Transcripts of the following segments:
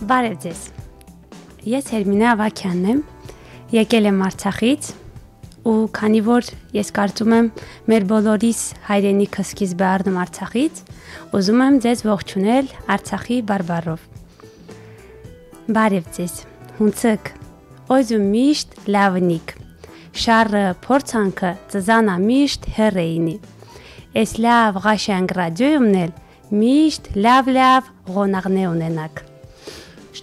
Բարև ձեզ, ես Հերմինե Ավագյանն եմ, եկել եմ Արցախից ու քանի որ ես կարծում եմ մեր բոլորիս հայրենիքը սկիզբ է առնում Արցախից, ուզում եմ ձեզ ողջունել Արցախի բարբառով։ Բարև ձեզ, հունցըք, օյզու միշտ լավնիկ, շարը փորձանքը ծզանա միշտ հեռեինի, ես լավ ղաշանգ ռադյոյումն էլ միշտ լավ ղոնաղնե ունենակ։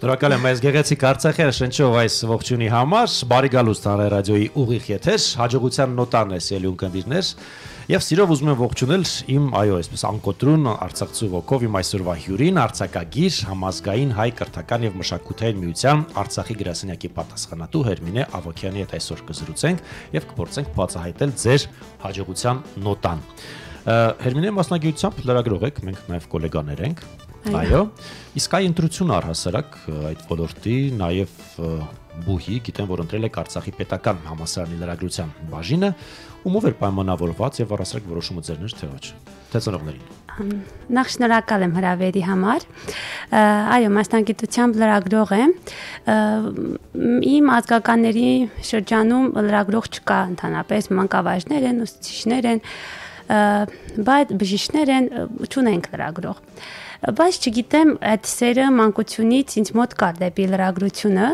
Շնորհակալ եմ այս գեղեցիկ Արցախի շնչով այս ողջունի համար, բարի գալուստ հանրայ ռադիոյի ուղիղ եթեր, հաջողության նոտան է սիրելի ունկնդիրներ, եւ սիրով ուզում եմ ողջունել իմ այսպես անկոտրուն արցախցու ոգով իմ այսօրվա հյուրին, արձակագիր, համազգային հայ կրթական եւ մշակութային միության Արցախի գրասենյակի պատասխանատու Հերմինե Ավագյանի հետ այսօր կզրուցենք եւ կփորձենք բացահայտել ձեր հաջողության նոտան։ Հերմինե մասնագիտությամբ լրագրող եք, մենք նաեւ գոլեգաներ ենք։ Այո, իսկ այ ընտրություն առհասարակ այդ ոլորտի նաև բուհի, գիտեմ, որ ընտրել եք Արցախի պետական համալսարանի լրագրության բաժինը, ումով էր պայմանավորված եւ առհասարակ որոշումը ձերն էր թե ոչ։ Թե ծնողներին։ Նախ շնորհակալ եմ հրավերի համար։ Այո, մասնագիտությամբ լրագրող եմ։ Իմ ազգականների շրջանում լրագրող չկա ընդհանրապես, մանկավարժներ են, ուսուցիչներ են, բայց բժիշկներ են, չունենք լրագրող։ Բայց չգիտեմ, այդ սերը մանկությունից ինձ մոտ կար դեպի լրագրությունը։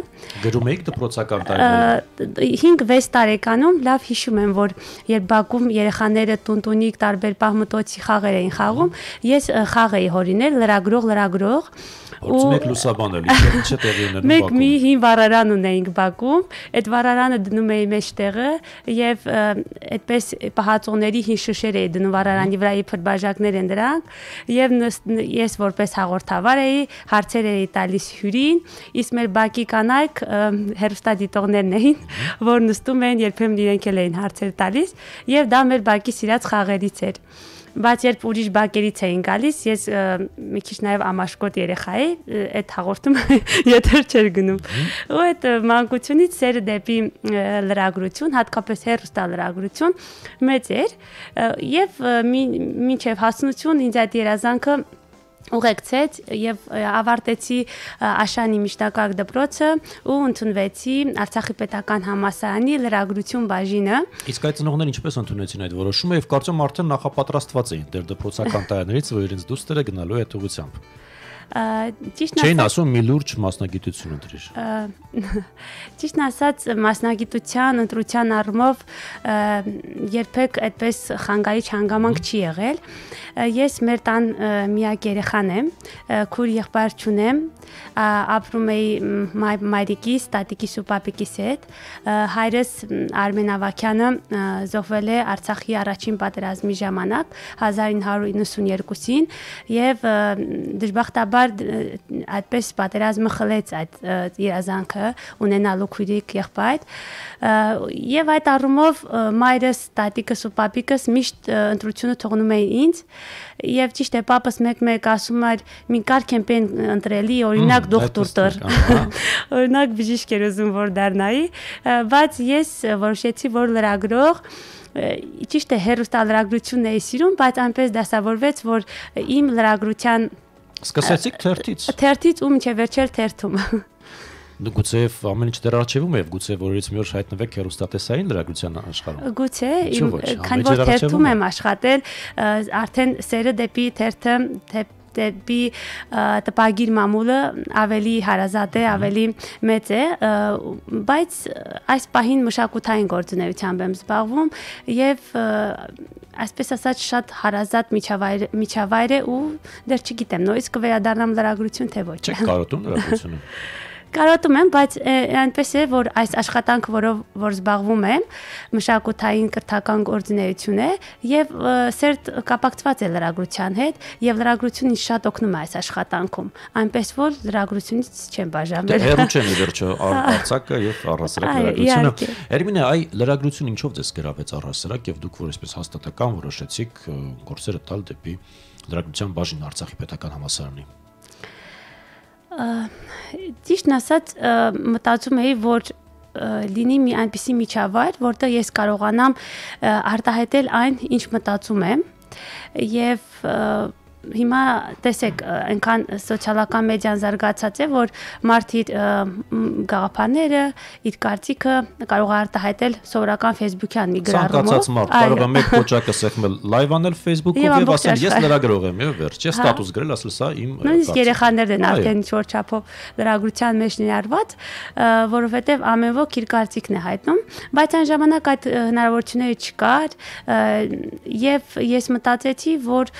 Գրում եք դպրոցական տարիներին։ 5-6 տարեկանում լավ հիշում եմ, որ երբ բակում երեխաները տունտունիկ տարբեր պահմտոցի խաղեր էին խաղում, ես խաղ էի հորինել լրագրող Մեկ լուսաբանել, ինչ տեղի ուներ բակում։ Մեկ մի հին վառարան ունեինք բակում, այդ վառարանը դնում էի մեջտեղը եւ այդպես պահածոների հին շշեր էի դնում վառարանի վրա, իբր բաժակներ են դրանք եւ ես որպես հաղորդավար էի, հարցեր էի տալիս հյուրին, իսկ մեր բակի կանայք հեռուստադիտողներն էին, որ նստում էին, երբեմն իրենք էլ էին հարցեր տալիս եւ դա մեր բակի սիրած խաղերից էր։ Բայց երբ ուրիշ բակերից էին գալիս, ես մի քիչ նաև ամաշկոտ երեխա էի, այդ հաղորդումը եթեր չէր գնում։ Ու այդ մանկությունից սերը դեպի լրագրություն, հատկապես հեռուստալրագրություն մեծ էր, եւ մինչև հասունություն ինձ այդ երազանքը ուղեկցեց եւ ավարտեցի Աշանի միջնակարգ դպրոցը ու ընդունվեցի Արցախի պետական համալսարանի լրագրություն բաժինը։ Իսկ այդ ծնողներն ինչպես ընդունեցին այդ որոշումը եւ կարծում արդեն նախապատրաստված էին դեր դպրոցական տարիներից, որ իրենց դուստերը գնալու այդ ուղղությամբ։ Չէին ասում մի լուրջ մասնագիտություն ընտրիր։ Ճիշտն ասած մասնագիտության ընտրության առումով երբեք այդպես խանգարիչ հանգամանք չի եղել։ Ես մեր տան միակ երեխան եմ, քույր եղբայր չունեմ, ապրում էի մայրիկիս, տատիկիս ու պապիկիս հետ։ Հայրս Արմեն Ավագյանը զոհվել է Արցախի առաջին պատերազմի ժամանակ 1992-ին եւ դժբախտաբար այդպես պատերազմը խլեց այդ երազանքը ունենալու քույրիկ եղբայր եւ այդ առումով մայրս, տատիկս ու պապիկս միշտ ընտրությունը թողնում էին ինձ եւ ճիշտ է պապս մեկ ասում էր մի կարգ եմ պեն ընտրելի օրինակ դոկտոր օրինակ բժիշկ էր ուզում որ դառնայի բայց ես որոշեցի որ լրագրող ճիշտ է հեռուստալրագրությունն էի սիրում բայց այնպես դասավորվեց որ իմ լրագրության Սկսեցիք թերթից ու մինչև վերջել թերթում Գուցե ամեն ինչ դեռ արժևում է, գուցե որից մի օր հայտնվեք հեռուստատեսային լրագրության աշխարհում։ Գուցե, քանի որ թերթում եմ աշխատել, արդեն սերը դեպի թերթը, դեպի տպագիր մամուլը ավելի հարազատ է, ավելի մեծ է, բայց այս պահին մշակութային գործունեությամբ եմ զբաղվում եւ այսպես ասած շատ հարազատ միջավայր է ու դեռ չգիտեմ, նորից կվերադառնամ լրագրություն թե ոչ։ Չեք կարոտում լրագրությունը։ Կարոտում եմ, բայց այնպես է, որ այս աշխատանքը, որ զբաղվում եմ, մշակութային կրթական գործունեություն է եւ սերտ կապակցված է լրագրության հետ եւ լրագրությունն ինձ շատ օգնում է այս աշխատանքում, այնպես որ լրագրությունից չեմ բաժանվել։ Հեռու չեն վերջը Արցախը եւ առհասարակ լրագրությունը։ Հերմինե, այ լրագրությունը ինչով ձեզ գրավեց առհասարակ եւ դուք որ այսպես հաստատական որոշեցիք գործերը տալ դեպի լրագրության բաժին Արցախի պետական համալսարանի։ Ճիշտն ասած մտածում էի, որ լինի մի այնպիսի միջավայր, որտեղ ես կարողանամ արտահայտել այն, ինչ մտածում եմ, եւ հիմա տեսեք, այնքան սոցիալական մեդիան զարգացած է, որ մարդ իր գաղափարները, իր կարծիքը կարող է արտահայտել սովորական Facebook-յան մի գրառումով։ Ցանկացած մարդ կարող է մեկ կոճակը սեղմել լայվ անել Facebook-ով եւ ասել ես լրագրող եմ եւ վերջ, ես ստատուս գրել, ասել սա իմ նույնիսկ երեխաներն են արդեն ինչ-որ չափով լրագրության մեջ ներառված, որովհետեւ ամեն ոք իր կարծիքն է հայտնում, բայց այն ժամանակ այդ հնարավորությունները չկար եւ ես մտածեցի, որ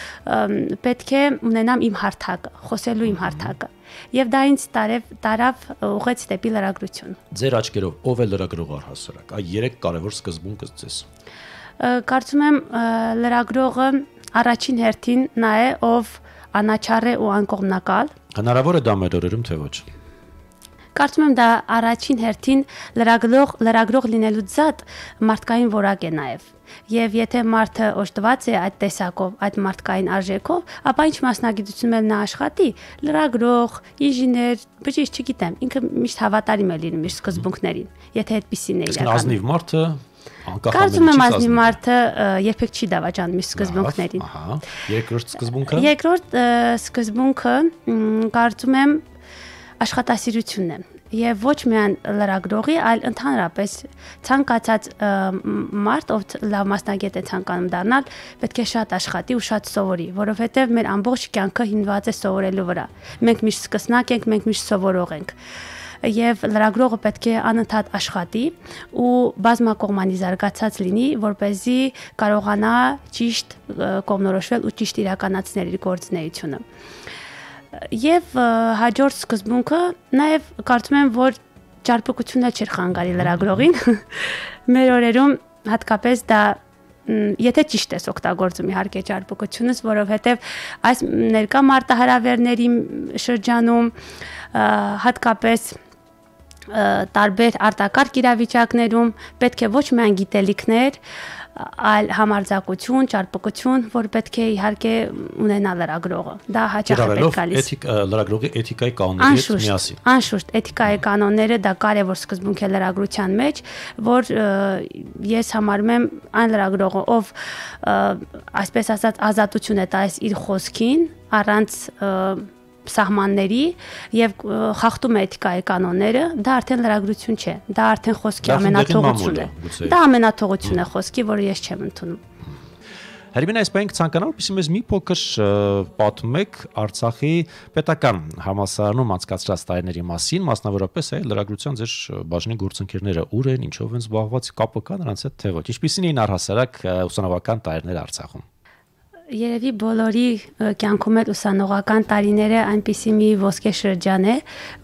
պետք է ունենամ իմ հարթակը, խոսելու իմ հարթակը։ Եվ դա ինձ տարավ ուղղեց դեպի լրագրություն։ Ձեր աչքերով ով է լրագրող առհասարակ։ Այ 3 կարևոր սկզբունքը ձեզ։ Կարծում եմ լրագրողը առաջին հերթին նա է, ով անաչառ է ու անկողմնակալ։ Հնարավոր է դա մեր օրերում թե ոչ։ Կարծում եմ դա առաջին հերթին լրագրող լինելու զատ մարդկային որակ է նաև։ Եվ եթե մարդը օժտված է այդ տեսակով, այդ մարդկային արժեքով, ապա ինչ մասնագիտություն էլ նա աշխատի, լրագրող, ինժեներ, բժիշկ, չգիտեմ, ինքը միշտ հավատարիմ է լինում իր սկզբունքներին, եթե այդպեսին է իրականում։ Ազնիվ մարդը Կարծում եմ ազնիվ մարդը երբեք չի դավաճանում իր սկզբունքներին։ Ահա, երկրորդ սկզբունքը։ Երկրորդ սկզբունքը կարծում եմ աշխատասիրությունն է։ Եվ ոչ միայն լրագրողի, այլ ընդհանրապես ցանկացած մարդ, ով լավ մասնագետ է ցանկանում դառնալ, պետք է շատ աշխատի ու շատ սովորի, որովհետև մեր ամբողջ կյանքը հիմնված է սովորելու վրա։ Մենք միշտ սկսնակ ենք, մենք միշտ սովորող ենք։ Եվ լրագրողը պետք է անընդհատ աշխատի ու բազմակողմանի զարգացած լինի, որպեսզի կարողանա ճիշտ կողմնորոշվել ու ճիշտ իրականացնել իր գործունեությունը։ Եվ հաջորդ սկզբունքը նաև կարծում եմ, որ ճարպկությունը չէր խանգարի լրագրողին։ Մեր օրերում հատկապես դա եթե ճիշտ ես օգտագործում իհարկե ճարպկությունս, որովհետև այս ներկա մարտահրավերների շրջանում հատկապես տարբեր արտակարգ իրավիճակներում պետք է ոչ միայն գիտելիքներ, այլ համարձակություն, ճարպկություն, որ պետք է իհարկե ունենա լրագրողը։ Դա հաճախ է պետք գալիս։ Լրագրողի էթիկայի կանոնների հետ միասին։ Անշուշտ, էթիկայի կանոնները դա կարևոր սկզբունք է լրագրության մեջ, որ ես համարում եմ այն լրագրողը, ով այսպես ասած ազատություն է տալիս իր խոսքին, առանց սահմանների եւ խախտում է էթիկայի կանոնները, դա արդեն լրագրություն չէ, դա արդեն խոսքի ամենաթողությունն է։ Դա ամենաթողությունն է խոսքի, որը ես չեմ ընդունում։ Հերմինե, այս բանք ցանկանալ, պիսի մեզ մի փոքր պատմեք Արցախի պետական համալսարանում անցկացրած տարիների մասին, մասնավորապես այ լրագրության ձեր բաժնի գործընկերները ուր են, ինչով են զբաղված, կապը կա նրանց հետ թե ոչ։ Ինչպիսին էին առհասարակ ուսանողական տարիները Արցախում։ Երևի բոլորի կյանքում էլ ուսանողական տարիները այնպիսի մի ոսկե շրջան է,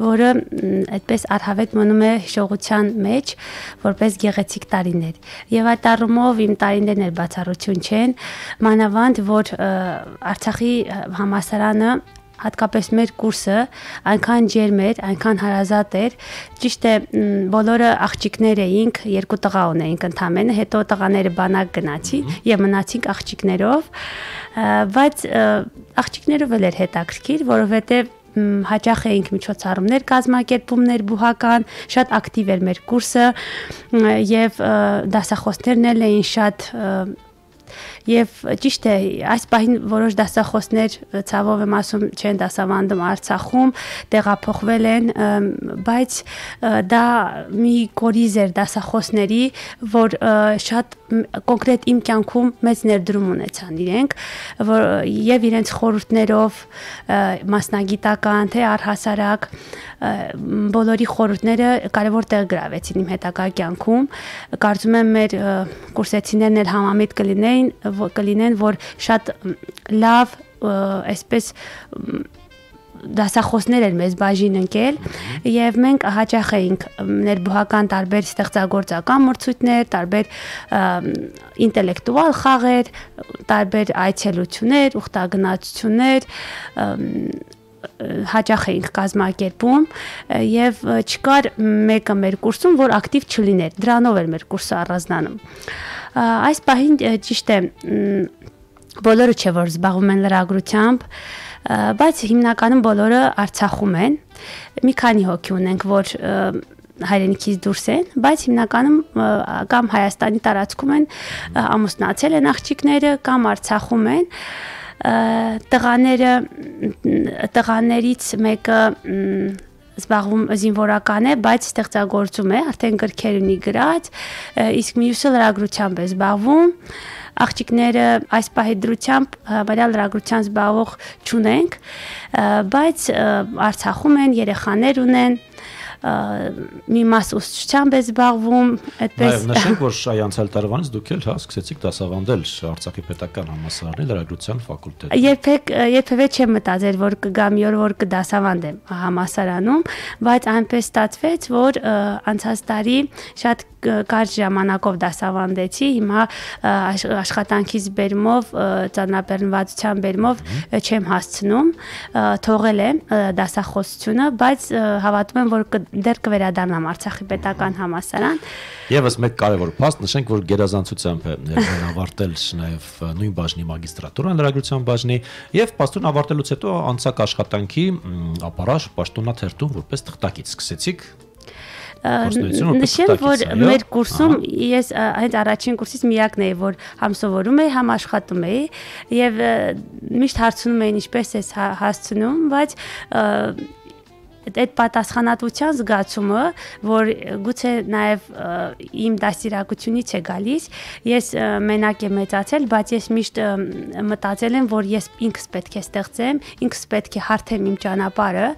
որը այդպես առհավետ մնում է հիշողության մեջ, որպես գեղեցիկ տարիներ։ Եվ այդ առումով իմ տարիներն էլ բացառություն չեն, մանավանդ որ Արցախի համալսարանը հատկապես մեր կուրսը այնքան ջերմ էր, այնքան հարազատ էր, ճիշտ է բոլորը աղջիկներ էինք, 2 տղա ունեինք ընդամենը, հետո տղաները բանակ գնացին եւ մնացինք աղջիկներով, բայց աղջիկներով էլ էր հետաքրքիր, որովհետեւ հաճախ էինք միջոցառումներ կազմակերպումներ բուհական, շատ ակտիվ էր մեր կուրսը եւ դասախոսներն էլ էին շատ Եվ ճիշտ է, այս պահին որոշ դասախոսներ ցավով եմ ասում չեն դասավանդում Արցախում, տեղափոխվել են, բայց դա մի կորիզ էր դասախոսների, որ շատ կոնկրետ իմ կյանքում մեծ ներդրում ունեցան իրենք, եւ իրենց խորհուրդներով մասնագիտական թե առհասարակ բոլորի խորհուրդները կարևոր տեղ գրավեցին իմ հետագա կյանքում։ Կարծում եմ մեր կուրսեցիներն էլ համամիտ կլինեն, որ շատ լավ այսպես դասախոսներ էր մեզ բաժին ընկել եւ մենք հաճախ էինք ներբուհական տարբեր ստեղծագործական մրցույթներ, տարբեր ինտելեկտուալ խաղեր, տարբեր այցելություններ, ուխտագնացություններ հաճախ էինք կազմակերպում եւ չկար մեկը մեր կուրսում, որ ակտիվ չլիներ։ Դրանով էր մեր կուրսը առանձնանում։ Այս պահին ճիշտ է բոլորը չէ որ զբաղվում են լրագրությամբ, բայց հիմնականում բոլորը Արցախում են։ Մի քանի հոգի ունենք, որ հայրենիքից դուրս են, բայց հիմնականում կամ Հայաստանի տարածքում են ամուսնացել են աղջիկները կամ Արցախում են։ տղաներից մեկը զբաղվում զինվորական է, բայց ստեղծագործում է, արդեն գրքեր ունի գրած, իսկ մյուսը լրագրությամբ է զբաղվում։ Աղջիկները այս պահի դրությամբ համարյա լրագրության զբաղվող չունենք, բայց Արցախում են, երեխաներ ունեն, մի մաս ուսուցչությամբ է զբաղվում, այդպես։ Նշենք, որ այ անցյալ տարվանից դուք էլ սկսեցիք դասավանդել Արցախի պետական համալսարանի լրագրության ֆակուլտետում։ Երբևէ չեմ մտածել, որ կգա մի օր, որ կդասավանդեմ համալսարանում, բայց այնպես ստացվեց, որ անցած տարի շատ կարճ ժամանակով դասավանդեցի, հիմա աշխատանքից բերումով, ծանրաբեռնվածության բերումով չեմ հասցնում, թողել եմ դասախոսությունը, բայց հավատում եմ, որ դեռ կվերադառնամ Արցախի պետական համալսարան։ Եվս մեկ կարևոր փաստ, նշենք, որ գերազանցությամբ է ավարտել նաև նույն բաժնի մագիստրատուրան լրագրության բաժնի եւ պաշտոն ավարտելուց հետո անցակ աշխատանքի ապարաշ պաշտոնաթերթում որպես թղթակից սկսեցիք։ Նշեմ, որ մեր կուրսում ես հենց առաջին կուրսից միակն էի, որ համ սովորում էի, համ աշխատում էի եւ միշտ հարցնում էին ինչպես ես հասցնում, բայց այդ պատասխանատվության զգացումը, որ գուցե նաև իմ դաստիարակությունից է գալիս, ես մենակ եմ մեծացել, բայց ես միշտ մտածել եմ, որ ես ինքս պետք է ստեղծեմ, ինքս պետք է հարթեմ իմ ճանապարհը,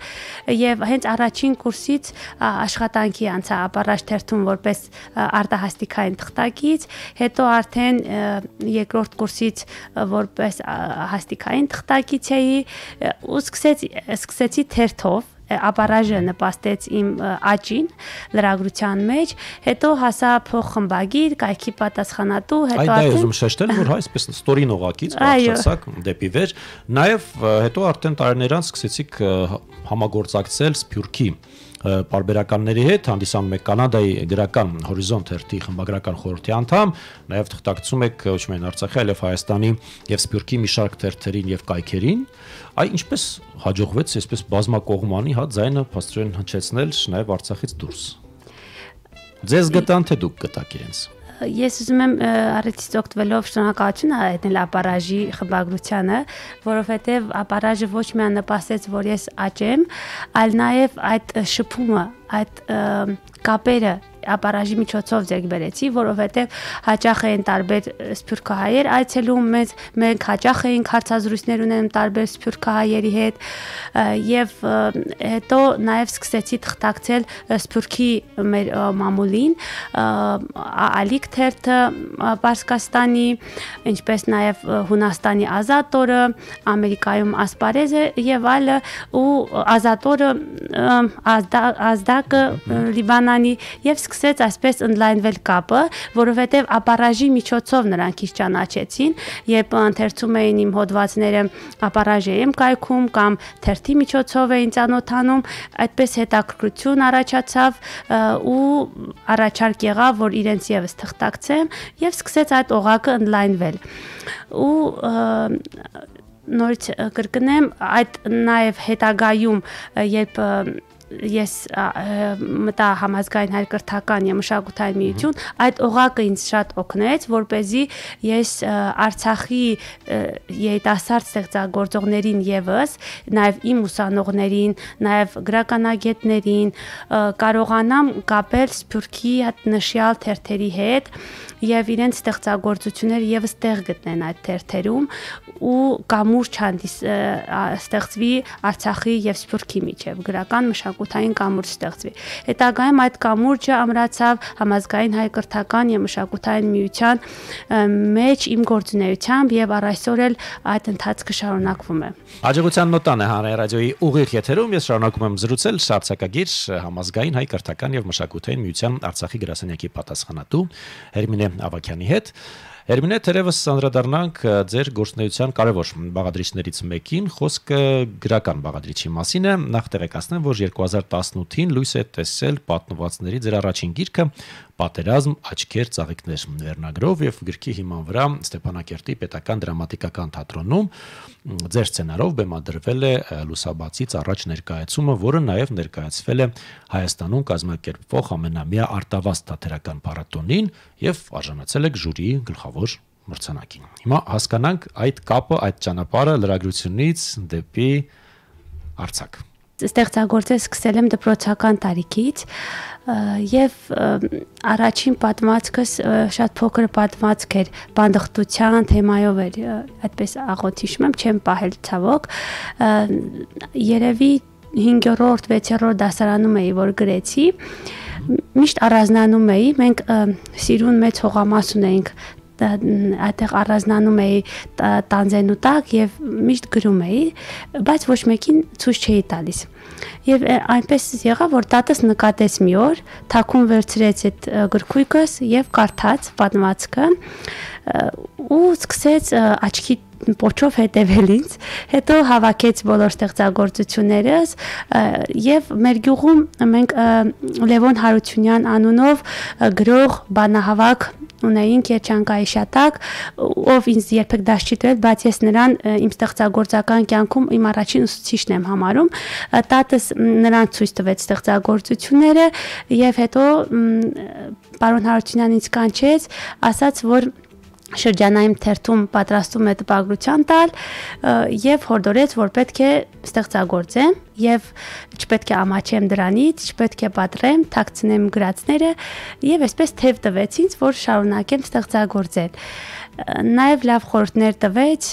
եւ հենց առաջին կուրսից աշխատանքի անցա ապառաշ թերթում որպես արտահասթիկային թղթակից, հետո արդեն երկրորդ կուրսից որպես հաստիկային թղթակից էի ու սկսեցի թերթով ապառաժը նպաստեց իմ աճին լրագրության մեջ, հետո հասա փոխխմբագիր, կայքի պատասխանատու, հետո արդեն ուզում շեշտել, որ այսպես ստորին օղակից բարձրացակ դեպի վեր, նաև հետո արդեն տարիներ անց սկսեցիք համագործակցել Սփյուռքի պարբերականների հետ, հանդիսանում եք Կանադայի գրական հորիզոնտ թերթի խմբագրական խորհրդի անդամ, նաև թղթակցում եք ոչ միայն Արցախի, այլև Հայաստանի եւ Սփյուռքի մի շարք թերթերին եւ կայքերին, այ ինչպես հաջողվեց այսպես բազմակողմանի ձայնը փաստորեն հնչեցնել նաև Արցախից դուրս։ Ձեզ գտան թե դուք գտաք իրենց։ Ես ուզում եմ առիթից օգտվելով շնորհակալություն հայտնել ապառաժի խմբագրությանը, որովհետև ապառաժը ոչ միայն նպաստեց, որ ես աճեմ, այլ նաև այդ շփումը, այդ կապերը ապառաժի միջոցով ձեռք բերեցի, որովհետև հաճախ էին տարբեր սփյուռքահայեր այցելում մեզ, մենք հաճախ էինք հարցազրույցներ ունենում տարբեր սփյուռքահայերի հետ եւ հետո նաև սկսեցի թղթակցել Սփյուռքի մեր մամուլին, Ալիք թերթը Պարսկաստանի, ինչպես նաև Հունաստանի Ազատորը, Ամերիկայում Ասպարեզը եւ այլը ու Ազատորը Ազդակը Լիբանանի եւ սկսեց այսպես ընդլայնվել կապը, որովհետև ապառաժի միջոցով նրանք ինձ ճանաչեցին, երբ ընթերցում էին իմ հոդվածները ապառաժի եմ կայքում կամ թերթի միջոցով էին ծանոթանում, այդպես հետաքրքրություն առաջացավ ու առաջարկ եղավ, որ իրենց եւս թղթակցեմ եւ սկսեց այդ օղակը ընդլայնվել։ Ու նորից կրկնեմ, այդ նաև հետագայում, երբ ես մտա համազգային հայկրթական եւ մշակութային միություն, այդ օղակը ինձ շատ օգնեց, որպեսզի ես Արցախի երիտասարդ ստեղծագործողներին եւս, նաեւ իմ ուսանողներին, նաեւ գրականագետներին կարողանամ կապել Սփյուռքի նշյալ թերթերի հետ եւ իրենց ստեղծագործությունները եւս տեղ գտնեն այդ թերթերում ու կամուրջ ստեղծվի Արցախի եւ Սփյուռքի միջեւ գրական մշակութային կամուրջ ստեղծվի։ Հետագայում այդ կամուրջը ամրացավ համազգային հայկրթական եւ մշակութային միության մեջ իմ գործունեությամբ եւ առ այսօր էլ այդ ընթացքը շարունակվում է։ Հաջողության նոտան է Հանրային ռադիոյի ուղիղ եթերում, ես շարունակում եմ զրուցել արձակագիր համազգային հայկրթական եւ մշակութային միության Արցախի գրասենյակի պատասխանատու Հերմինե Ավագյանի հետ։ Հերմինե, թերևս անդրադառնանք ձեր գործունեության կարևոր բաղադրիչներից մեկին, խոսքը գրական բաղադրիչի մասին է։ Նախ տեղեկացնեմ, որ 2018-ին լույս է տեսել պատմվածքների ձեր առաջին գիրքը Պատերազմ, աչքեր, ծաղիկներ վերնագրով եւ գրքի հիման վրա Ստեփանակերտի պետական դրամատիկական թատրոնում ձեր սցենարով բեմադրվել է լուսաբացից առաջ ներկայացումը, որը նաեւ ներկայացվել է Հայաստանում կազմակերպվող ամենամյա արտավազդ թատերական փառատոնին եւ արժանացել է ժյուրիի գլխավոր մրցանակին։ Հիմա հասկանանք այդ կապը, այդ ճանապարհը լրագրությունից դեպի արձակ։ Ստեղծագործել սկսել եմ դպրոցական տարիքից եւ առաջին պատմվածքս շատ փոքր պատմվածք էր, բանդխտության թեմայով էր, այդպես աղոտ հիշում եմ, չեմ պահել ցավոք, երևի 5-րդ, 6-րդ դասարանում էի, որ գրեցի, միշտ առանձնանում էի, մենք Սիրուն մեծ հողամաս ունեինք, այդտեղ առանձնանում էի տանձենու տակ եւ միշտ գրում էի, բայց ոչ մեկին ցույց չէի տալիս։ Եվ այնպես եղավ, որ տատս նկատեց մի օր, թաքուն վերցրեց այդ գրքույկս եւ կարդաց պատմվածքը ու սկսեց աչքի պոչով հետևել ինձ, հետո հավաքեց բոլոր ստեղծագործություններս եւ մեր գյուղում մենք Լևոն Հարությունյան անունով գրող բանահավաք ունեինք Երջանկայի շատակ, ով ինձ երբեք դաս չի տվել, բայց ես նրան իմ ստեղծագործական կյանքում իմ առաջին ուսուցիչն եմ համարում, տատս նրան ցույց տվեց ստեղծագործությունները եւ հետո պարոն Հարությունյանն ինձ կանչեց, ասաց, որ շրջանային թերթում պատրաստում է տպագրության տալ եւ հորդորեց, որ պետք է ստեղծագործեմ եւ չպետք է ամաչեմ դրանից, չպետք է պատռեմ, թաքցնեմ գրածները եւ այսպես թեև տվեց ինձ, որ շարունակեմ ստեղծագործել։ Նաեւ լավ խորհուրդներ տվեց,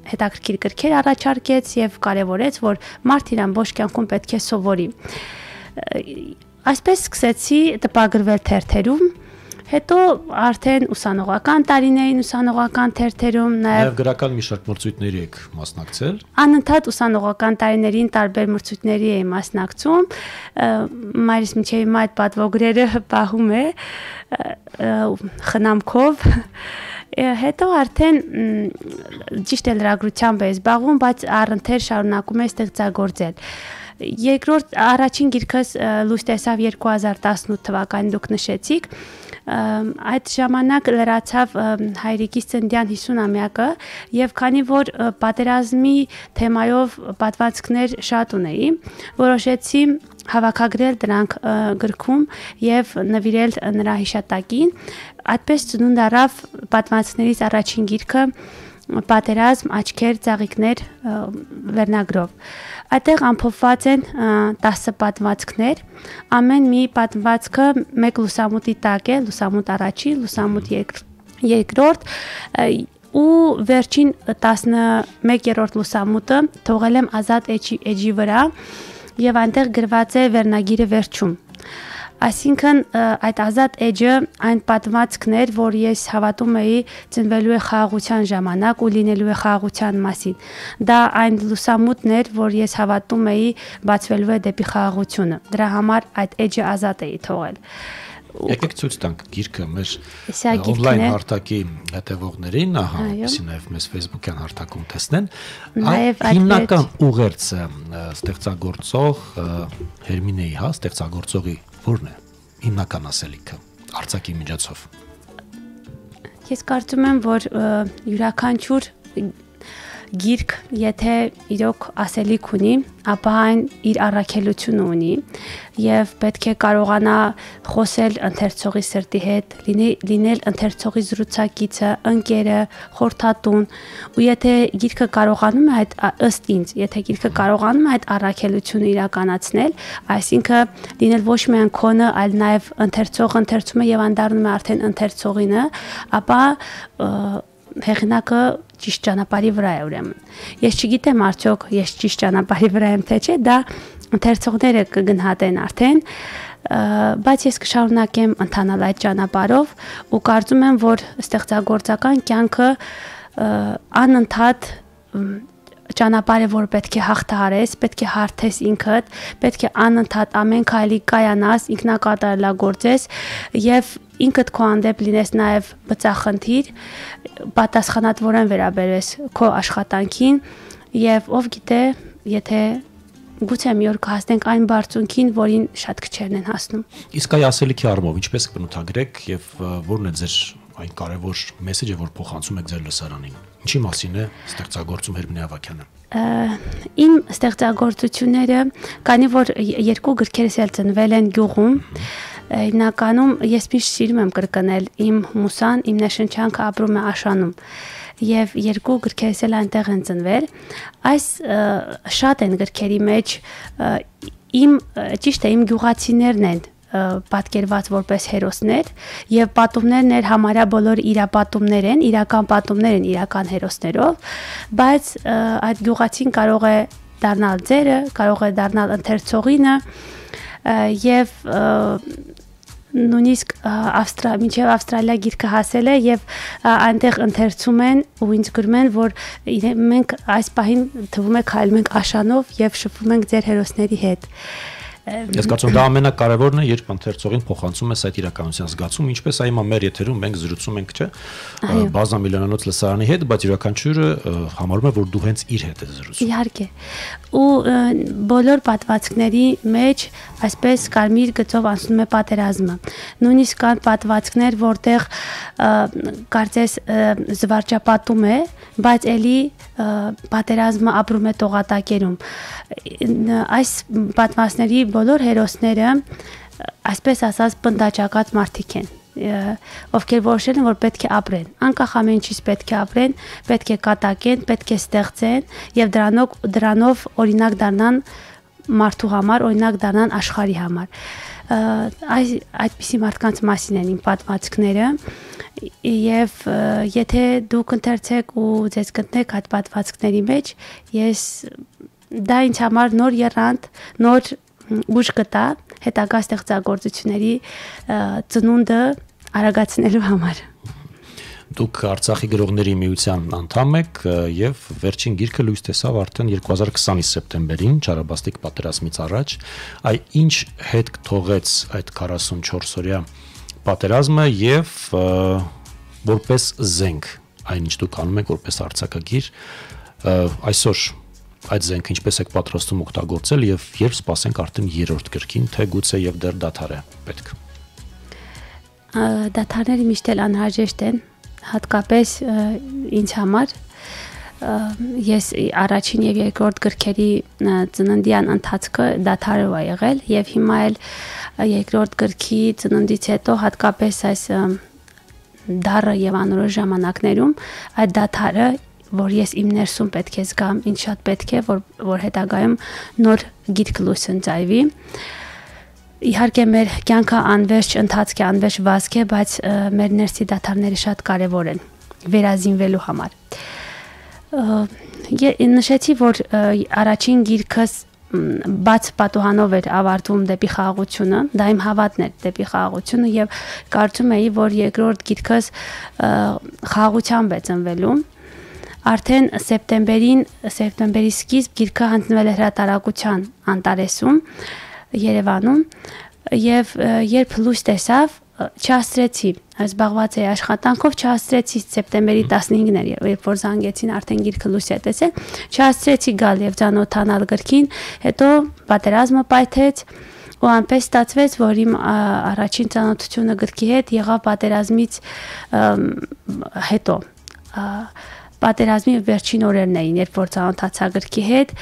հետաքրքիր գրքեր առաջարկեց եւ կարեւորեց, որ մարդ իր ամբողջ կյանքում պետք է սովորի։ Այսպես սկսեցի տպագրվել թերթերում, հետո արդեն ուսանողական տարիներին ուսանողական թերթերում նաև գրական մի շարք մրցույթների եք մասնակցել։ Անընդհատ ուսանողական տարիներին տարբեր մրցույթների էի մասնակցում։ Մայրս մինչև հիմա այդ պատվոգրերը պահում է խնամքով։ Հետո արդեն ճիշտ է լրագրությամբ է զբաղվում, բայց առընթեր շարունակում է ստեղծագործել։ Երկրորդ առաջին գիրքս լույս տեսավ 2018 թվականին, դուք նշեցիք, այդ ժամանակ լրացավ հայրիկիս ծննդյան 50-ամյակը եւ քանի որ պատերազմի թեմայով պատմվածքներ շատ ունեի, որոշեցի հավաքագրել դրանք գրքում եւ նվիրել նրա հիշատակին, այդպես ծնունդ առավ պատմվածքներից առաջին գիրքը Պատերազմ, աչքեր, ծաղիկներ վերնագրով։ Այդտեղ ամփոփված են 10 պատմվածքներ, ամեն մի պատմվածքը մեկ լուսամուտի տակ է, լուսամուտ առաջին, լուսամուտ երկրորդ ու վերջին 11-րդ լուսամուտը թողել եմ ազատ էջի վրա եւ այնտեղ գրված է վերնագիրը վերջում։ Այսինքն այդ ազատ էջը այն պատմվածքներ, որ ես հավատում էի ծնվելու է խաղաղության ժամանակ ու լինելու է խաղաղության մասին։ Դա այն լուսամուտն էր, որ ես հավատում էի բացվելու է դեպի խաղաղությունը։ Դրա համար այդ էջը ազատ էի թողել։ Եկեք ցույց տանք գիրքը մեր on-line հարթակի հետևողներին, ահա, այսինքն նաև մեզ Facebook-յան հարթակում տեսնեն։ Հիմնական ուղերձը ստեղծագործող Հերմինեի, հա, ստեղծագործողի որն է հիմնական ասելիքը արձակի միջոցով։ Ես կարծում եմ, որ յուրաքանչյուր գիրք, եթե իրոք ասելիք ունի, ապա այն իր առաքելությունը ունի եւ պետք է կարողանա խոսել ընթերցողի սրտի հետ, լինել ընթերցողի զրուցակիցը, ընկերը, խորհրդատուն, ու եթե գիրքը կարողանում է այդ ըստ ինձ, եթե գիրքը կարողանում է այդ առաքելությունը իրականացնել, այսինքն լինել ոչ միայն քոնը, այլ նաեւ ընթերցողը ընթերցում է եւ անդառնում է արդեն ընթերցողինը, ապա հեղինակը ճիշտ ճանապարհի վրա է ուրեմն։ Ես չգիտեմ արդյոք ես ճիշտ ճանապարհի վրա եմ թե չէ, դա ընթերցողները կգնահատեն արդեն, բայց ես կշարունակեմ ընթանալ այդ ճանապարհով ու կարծում եմ, որ ստեղծագործական կյանքը անընդհատ ճանապարհ է, որ պետք է հաղթահարես, պետք է հարթես ինքդ, պետք է անընդհատ ամեն քայլի կայանաս, ինքնակատարելագործես եւ ինքդ քո հանդեպ լինես նաեւ բծախնդիր, պատասխանատվորեն վերաբերես քո աշխատանքին եւ ով գիտե, եթե գուցե մի օր կհասնենք այն բարձունքին, որին շատ քչերն են հասնում։ Իսկ այ ասելիքի առումով ինչպես կբնութագրեք եւ որն է ձեր այն կարևոր մեսեջը, որ փոխանցում եք ձեր լսարանին։ Ինչի մասին է ստեղծագործում Հերմինե Ավագյանը։ Իմ ստեղծագործությունները, քանի որ երկու գրքերս էլ ծնվել են գյուղում, հիմնականում ես միշտ սիրում եմ կրկնել իմ մուսան, իմ նշանչանքը ապրում է Աշանում եւ երկու գրքերս էլ այնտեղ են ծնվել այս շատ են գրքերի մեջ ճիշտ է իմ գյուղացիներն են պատկերված որպես հերոսներ եւ պատումներն համարյա բոլոր իրապատումներ են, իրական պատումներ են իրական հերոսներով, բայց այդ գյուղացին կարող է դառնալ ձերը, կարող է դառնալ ընթերցողինը եւ նույնիսկ մինչև Ավստրալիա գիրքը հասել է եւ այնտեղ ընթերցում են ու ինձ գրում են, որ մենք այս պահին թվում է քայլում ենք Աշանով եւ շփվում ենք ձեր հերոսների հետ։ Ես կարծում եմ դա ամենակարևորն է, երբ ընթերցողին փոխանցում ես այդ իրականության զգացում, ինչպես այ մեր եթերում մենք զրուցում ենք, չէ՞, բազմամիլիոնանոց լսարանի հետ, բայց յուրաքանչյուրը համարում է, որ դու հենց իր հետ ես զրուցում։ Իհարկե։ Ու բոլոր պատմվածքների մեջ այսպես կարմիր գծով անցնում է պատերազմը։ Նույնիսկ կան պատմվածքներ, որտեղ կարծես զվարճապատում է, բայց ելի պատերազմը ապրում է տողատակերում։ Այս պատմվածքների բոլոր հերոսները այսպես ասած պնդաճակած մարդիկ են, ովքեր որոշել են, որ պետք է ապրեն, անկախ ամեն ինչից պետք է ապրեն, պետք է կատակեն, պետք է ստեղծեն եւ դրանով օրինակ դառնան մարդու համար, օրինակ դառնան աշխարհի համար։ Այդպիսի մարդկանց մասին են իմ պատմվածքները եւ եթե դուք ընթերցեք ու ձեզ գտնեք այդ պատմվածքների մեջ, դա ինձ համար նոր եռանդ, նոր ուժ կտա հետագա ստեղծագործությունների ծնունդը արագացնելու համար։ Դուք Արցախի գրողների միության անդամ եք եւ վերջին գիրքը լույս տեսավ արդեն 2020-ի սեպտեմբերին, Չարաբաստիկ պատերազմից առաջ։ Այ ինչ հետ թողեց այդ 44-օրյա պատերազմը եւ որպես զենք, այնինչ դուք անում եք որպես արձակագիր, այսօր այդ զենքը ինչպես եք պատրաստում օգտագործել եւ երբ սպասենք արդեն երրորդ գրքին, թե գուցե եւ դեռ դադար է պետք։ Դադարները միշտ էլ անհրաժեշտ են, հատկապես ինձ համար։ Ես առաջին եւ երկրորդ գրքերի ծննդյան ընթացքը դադարով է եղել եւ հիմա էլ երկրորդ գրքի ծննդից հետո հատկապես այս դառը եւ անորոշ ժամանակներում այդ դադարը, որ ես իմ ներսում պետք է զգամ, ինձ շատ պետք է, որ հետագայում նոր գիրք լույս ընծայվի։ Իհարկե մեր կյանքը անվերջ ընթացք է, անվերջ վազք է, բայց մեր ներսի դադարները շատ կարևոր են վերազինվելու համար։ Նշեցի, որ առաջին գիրքս բաց պատուհանով էր ավարտվում դեպի խաղաղությունը, դա իմ հավատն էր դեպի խաղաղությունը եւ կարծում էի, որ երկրորդ գիրքս խաղաղությամբ է ծնվելու։ Արդեն սեպտեմբերի սկիզբ գիրքը հանձնվել է հրատարակության Անտարեսում, Երևանում եւ երբ լույս տեսավ, չհասցրեցի, զբաղված էի աշխատանքով, չհասցրեցի սեպտեմբերի 15-ն էր, երբ որ զանգեցին արդեն գիրքը լույս է տեսել, չհասցրեցի գալ եւ ծանոթանալ գրքին, հետո պատերազմը պայթեց ու այնպես ստացվեց, որ իմ առաջին ծանոթությունը գրքի հետ եղավ պատերազմից հետո։ Պատերազմի վերջին օրերն էին, երբ որ ծանոթացա գրքի հետ,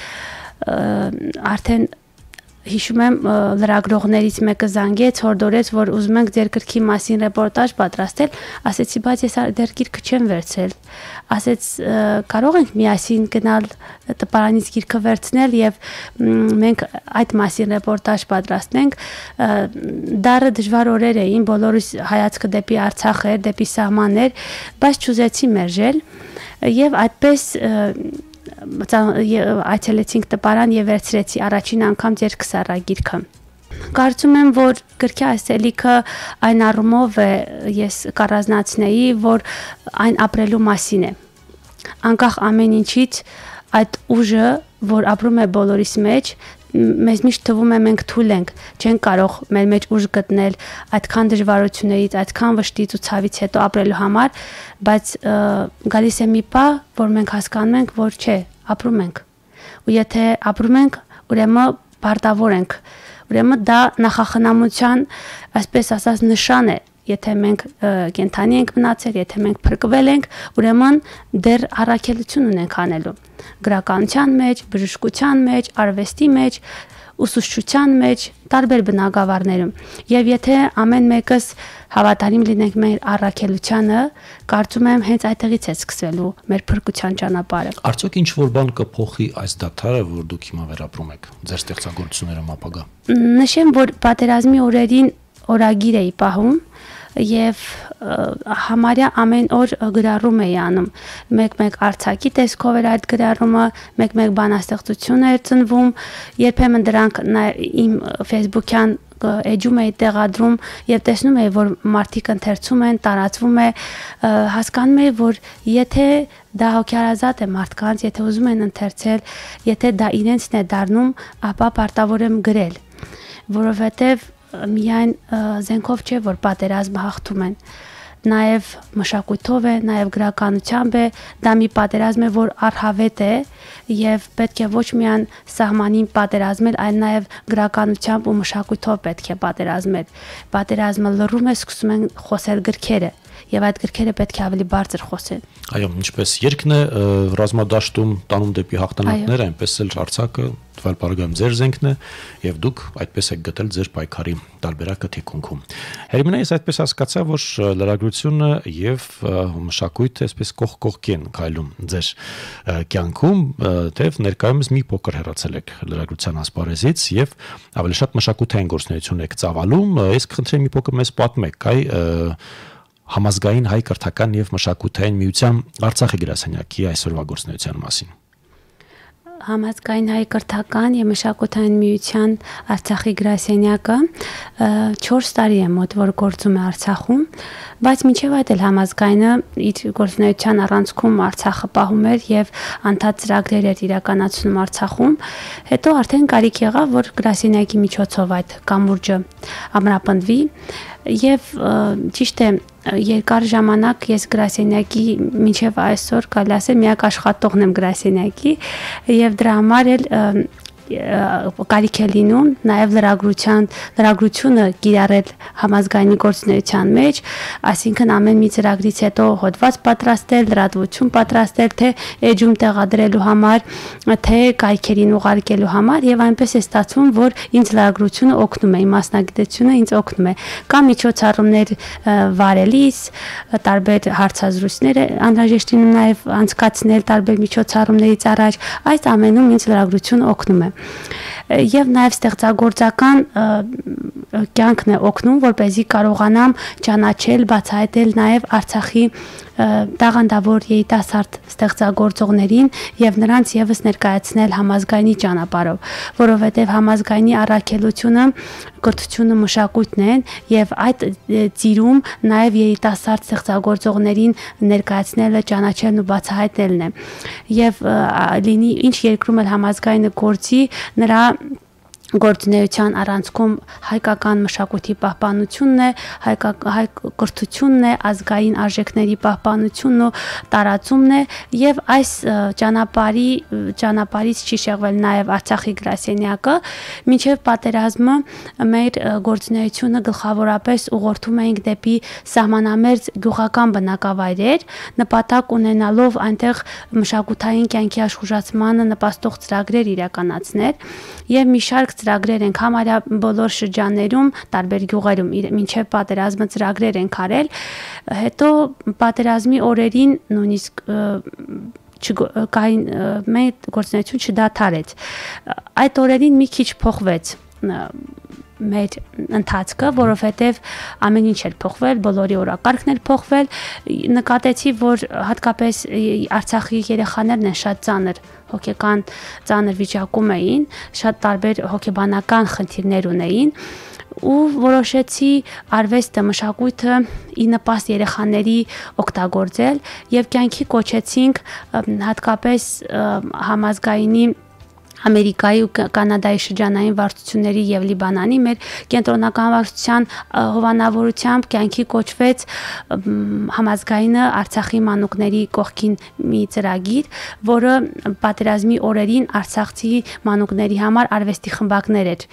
արդեն հիշում եմ լրագրողներից մեկը զանգեց, հորդորեց, որ ուզում ենք ձեր գրքի մասին ռեպորտաժ պատրաստել, ասեցի, բայց ես դեռ գիրքը չեմ վերցրել, ասեց, կարող ենք միասին գնալ տպարանից գիրքը վերցնել եւ մենք այդ մասին ռեպորտաժ պատրաստենք։ Դառը դժվար օրեր էին, բոլորիս հայացքը դեպի Արցախ էր, դեպի սահմաններ, բայց չուզեցի մերժել եւ այդպես այցելեցինք տպարան եւ վերցրեցի առաջին անգամ ձեր քսառա գիրքը։ Կարծում եմ, որ գրքի ասելիքը այն առումով է ես կառանձնացնեի, որ այն ապրելու մասին է։ Անկախ ամեն ինչից այդ ուժը, որ ապրում է բոլորիս մեջ, մեզ միշտ թվում է մենք թույլ ենք, չենք կարող մեր մեջ ուժ գտնել այդքան դժվարություններից, այդքան վշտից ու ցավից հետո ապրելու համար, բայց գալիս է մի պահ, որ մենք հասկանում ենք, որ չէ, ապրում ենք։ Ու եթե ապրում ենք, ուրեմն պարտավոր ենք։ Ուրեմն դա նախախնամության, այսպես ասած, նշան է։ Եթե մենք կենթանի ենք մնացել, եթե մենք փրկվել ենք, ուրեմն դեռ առաքելություն ունենք անելու գրականության մեջ, բժշկության մեջ, արվեստի մեջ, ուսուցչության մեջ, տարբեր բնագավառներում։ Եվ եթե ամեն մեկս հավատարիմ լինենք մեր առաքելությանը, կարծում եմ հենց այդտեղից է սկսվելու մեր փրկության ճանապարհը։ Արդյոք ինչ որ բան կփոխի այս դադարը, որ դուք հիմա վերապրում եք ձեր ստեղծագործություններում ապագա։ Նշեմ, որ պատերազմի օրերին օրագիր էի պահում եւ համարյա ամեն օր գրառում էի անում։ Մեկ-մեկ արձակի տեսքով էր այդ գրառումը, մեկ-մեկ բանաստեղծություն էր ծնվում, երբեմն դրանք իմ Facebook-յան էջում էի տեղադրում եւ տեսնում էի, որ մարդիկ ընթերցում են, տարածվում է, հասկանում էի, որ եթե դա հոգեարազատ է մարդկանց, եթե ուզում են ընթերցել, եթե դա իրենցն է դառնում, ապա պարտավոր եմ գրել, որովհետեւ միայն զենքով չէ, որ պատերազմը հաղթում են, նաև մշակույթով է, նաև գրականությամբ է, դա մի պատերազմ է, որ առհավետ է եւ պետք է ոչ միայն սահմանին պատերազմել, այլ նաև գրականությամբ ու մշակույթով պետք է պատերազմել։ Պատերազմը լռում է, սկսում են խոսել գրքերը եւ այդ գրքերը պետք է ավելի բարձր խոսեն։ Այո, ինչպես երկն է ռազմադաշտում տանում դեպի հաղթանակներ, այնպես էլ Արցախը տվյալ բարգամ ձեր զենքն է եւ դուք այդպես եք գտել ձեր պայքարի տարբերակը թիկունքում։ Հերմինե, ես այդպես հասկացա, որ լրագրությունը եւ մշակույթը այսպես կողք կողքի են քայլում ձեր կյանքում, թեև ներկայումս մի փոքր հեռացել եք լրագրության ասպարեզից եւ ավելի շատ մշակութային գործունեություն եք ծավալում։ Ես կխնդրեմ մի փոքր մեզ պատմեք, Համազգային հայ կրթական եւ մշակութային միության Արցախի գրասենյակի այսօրվա գործունեության մասին։ Համազգային հայ կրթական եւ մշակութային միության Արցախի գրասենյակը 4 տարի է մոտ որ գործում է Արցախում, բայց մինչեւ այդ էլ համազգայինը իր գործունեության առանցքում Արցախը պահում էր եւ անդադ ծրագրեր էր իրականացնում Արցախում, հետո արդեն կարիք եղավ, որ գրասենյակի միջոցով այդ կամուրջը ամրապնդվի եւ ճիշտ է երկար ժամանակ ես գրասենյակի մինչև այսօր կարելի ասել միակ աշխատողն եմ գրասենյակի եւ դրա համար էլ կարիք է լինում նաև լրագրությունը կիրառել համազգայինի գործունեության մեջ, այսինքն ամեն մի ծրագրից հետո հոդված պատրաստել, լրատվություն պատրաստել, թե էջում տեղադրելու համար, թե կայքերին ուղարկելու համար եւ այնպես է ստացվում, որ ինձ լրագրությունը օգնում է, իմ մասնագիտությունը ինձ օգնում է, կամ միջոցառումներ վարելիս, տարբեր հարցազրույցներ անհրաժեշտ լինում նաև անցկացնել տարբեր միջոցառումներից առաջ, այս ամենում ինձ լրագրությունը օգնում է։ Եվ նաև ստեղծագործական կյանքն է օգնում, որպեսզի կարողանամ ճանաչել, բացահայտել նաև Արցախի տաղանդավոր երիտասարդ ստեղծագործողներին եւ նրանց եւս ներկայացնել համազգայինի ճանապարհով, որովհետեւ համազգայինի առաքելությունը կրթությունը մշակույթն են եւ այդ ծիրում նաեւ երիտասարդ ստեղծագործողներին ներկայացնելը, ճանաչելն ու բացահայտելն է։ Եւ լինի ինչ երկրում էլ համազգայինը գործի, նրա գործունեության առանցքում հայկական մշակույթի պահպանությունն է, հայ կրթությունն է, ազգային արժեքների պահպանությունն ու տարածումն է եւ այս ճանապարհից չի շեղվել նաեւ Արցախի գրասենյակը, մինչեւ պատերազմը մեր գործունեությունը գլխավորապես ուղղորդում էինք դեպի սահմանամերձ գյուղական բնակավայրեր, նպատակ ունենալով այնտեղ մշակութային կյանքի աշխուժացմանը նպաստող ծրագրեր իրականացնել եւ մի շարք ծրագրեր ենք համարյա բոլոր շրջաններում, տարբեր գյուղերում մինչև պատերազմը ծրագրեր ենք արել, հետո պատերազմի օրերին նույնիսկ մեր գործունեություն չդադարեց։ Այդ օրերին մի քիչ փոխվեց մեր ընթացքը, որովհետև ամեն ինչ էր փոխվել, բոլորի օրակարգն էր փոխվել, նկատեցի, որ հատկապես Արցախի երեխաներն են շատ ծանր հոգեկան ծանր վիճակում էին, շատ տարբեր հոգեբանական խնդիրներ ունեին ու որոշեցի արվեստը, մշակույթը ի նպաստ երեխաների օգտագործել եւ կյանքի կոչեցինք հատկապես համազգայինի Ամերիկայի ու Կանադայի շրջանային վարչությունների եւ Լիբանանի մեր կենտրոնական վարչության հովանավորությամբ կյանքի կոչվեց համազգայինը Արցախի մանուկների կողքին մի ծրագիր, որը պատերազմի օրերին արցախցի մանուկների համար արվեստի խմբակներ էր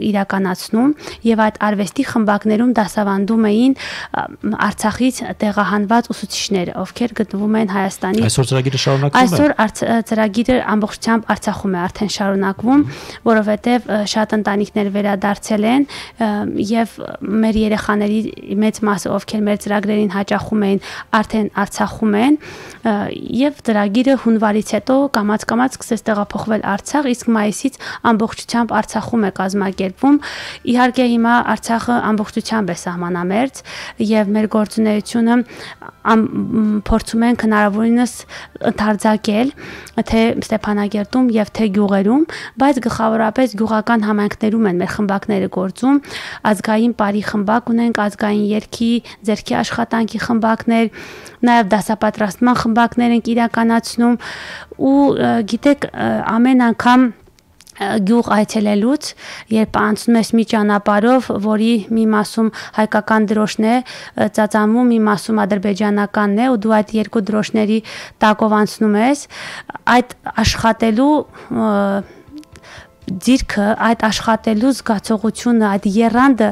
իրականացնում եւ այդ արվեստի խմբակներում դասավանդում էին Արցախից տեղահանված ուսուցիչներ, ովքեր գտնվում են Հայաստանի։ Այսօր ծրագիրը շարունակվում է։ Այսօր ծրագիրը ամբողջությամբ Արցախում է արդեն շարունակվում, որովհետև շատ ընտանիքներ վերադարձել են եւ մեր երեխաների մեծ մասը, ովքեր մեր ծրագրերին հաճախում էին, արդեն Արցախում են եւ ծրագիրը հունվարից հետո կամաց-կամաց սկսեց տեղափոխվել Արցախ, իսկ մայիսից ամբողջությամբ Արցախում է կազմակերպվում։ Իհարկե հիմա Արցախը ամբողջությամբ է սահմանամերձ եւ մեր գործունեությունը փորձում ենք հնարավորինս ընդարձակել թե Ստեփանագերտում եւ թե գյուղերում, բայց գլխավորապես գյուղական համայնքներում են մեր խմբակները գործում, ազգային բարի խմբակ ունենք, ազգային երգի, ձեռքի աշխատանքի խմբակներ, նաեւ դասապատրաստման խմբակներ ենք իրականացնում ու գիտեք ամեն անգամ գյուղ այցելելուց, երբ անցնում ես մի ճանապարհով, որի մի մասում հայկական դրոշն է ծածանվում, մի մասում ադրբեջանականն է ու դու այդ երկու դրոշների տակով անցնում ես, այդ աշխատելու ձիրքը, այդ աշխատելու զգացողությունը, այդ եռանդը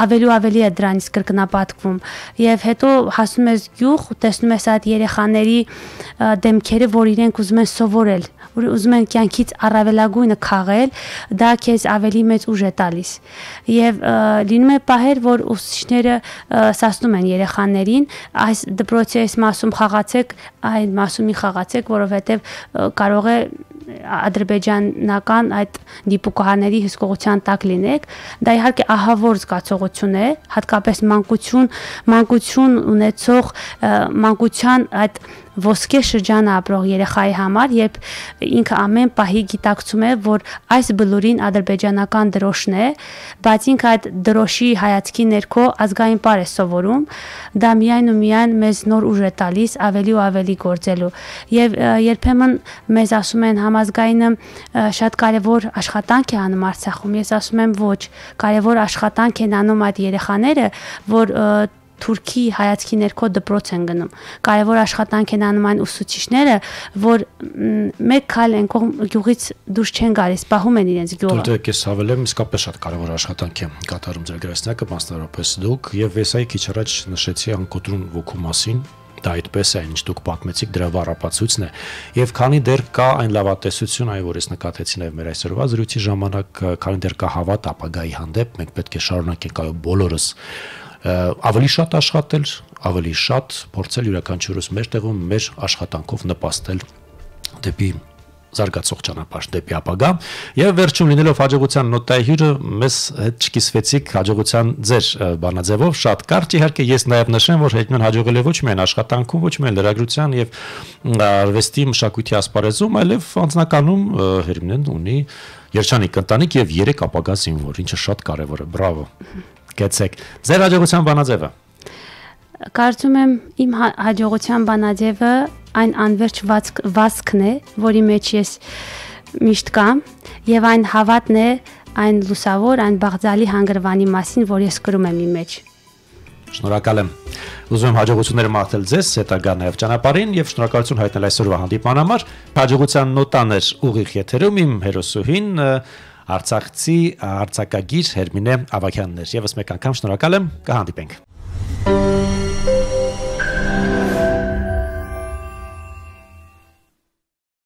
ավելի ու ավելի է դրանից կրկնապատկվում եւ հետո հասնում ես գյուղ ու տեսնում ես այդ երեխաների դեմքերը, որ իրենք ուզում են սովորել, որ ուզում են կյանքից առավելագույնը քաղել, դա քեզ ավելի մեծ ուժ է տալիս եւ լինում է պահեր, որ ուսուցիչները ասում են երեխաներին, այս դպրոցի այս մասում խաղացեք, այն մասումի խաղացեք, որովհետեւ կարող է ադրբեջանական այդ դիպուկահարների հսկողության տակ լինեք, դա իհարկե ահավոր զգացողություն է, հատկապես մանկություն ունեցող մանկության այդ ոսկե շրջանը ապրող երեխայի համար, երբ ինքը ամեն պահի գիտակցում է, որ այս բլուրին ադրբեջանական դրոշն է, բայց ինքը այդ դրոշի հայացքի ներքո ազգային պար է սովորում, դա միայն ու միայն մեզ նոր ուժ է տալիս ավելի ու ավելի գործելու եւ երբեմն մեզ ասում են համազգայինը շատ կարեւոր աշխատանք է անում Արցախում, ես ասում եմ ոչ, կարեւոր աշխատանք են անում այդ երեխաները, որ Թուրքի հայացքի ներքո դպրոց են գնում։ Կարևոր աշխատանք են անում այն ուսուցիչները, որ մեկ քայլ են գյուղից դուրս չեն գալիս, պահում են իրենց գյուղը։ Դուք ես հավելեմ, իսկապես շատ կարևոր աշխատանք է կատարում ձեր գրասենյակը, մասնավորապես դուք, եւ ես այ քիչ առաջ նշեցի անկոտրուն ոգու մասին։ Դա այդպես է, ինչ դուք պատմեցիք, դրա վառապացույցն է։ Եվ քանի դեռ կա այն լավատեսություն, այ որ ես նկատեցի նաև մեր այսօրվա զրույցի ժամանակ, քանի դեռ կա հավատ ապագայի հանդեպ, մենք պետք է շարունակենք այո բոլորս ավելի շատ աշխատել, ավելի շատ փորձել յուրաքանչյուրս մեր տեղում մեր աշխատանքով նպաստել դեպի զարգացող ճանապարհ, դեպի ապագա եւ վերջում լինելով հաջողության նոտայի հյուրը մեզ հետ չկիսվեցիք հաջողության ձեր բանաձևով շատ կարճ իհարկե ես նաեւ նշեմ որ հետմեն հաջողել է ոչ միայն աշխատանքում, ոչ միայն լրագրության եւ արվեստի մշակույթի ասպարեզում, այլև անձնականում Հերմինեն ունի երջանիկ ընտանիք եւ 3 ապագա զինվոր, ինչը շատ կարեւոր է, բրավո։ Գեցեք։ Ձեր հաջողության բանաձևը։ Կարծում եմ իմ հաջողության բանաձևը այն անverջ վազքն է, որի մեջ ես միշտ կամ եւ այն հավատն է, այն լուսավոր, այն բաղձալի հանգրվանի մասին, որ ես կրում եմ իմ մեջ։ Շնորհակալ եմ։ Ուզում եմ հաջողություններ մաղթել ձեզ հետագա նաև ճանապարհին եւ շնորհակալություն հայտնել այսօրվա հանդիպման համար։ Հաջողության նոտաներ ուղիղ եթերում իմ հերոսուհին Արցախցի արձակագիր Հերմինե Ավագյանն էր։ Եվս մեկ անգամ շնորհակալ եմ, կհանդիպենք։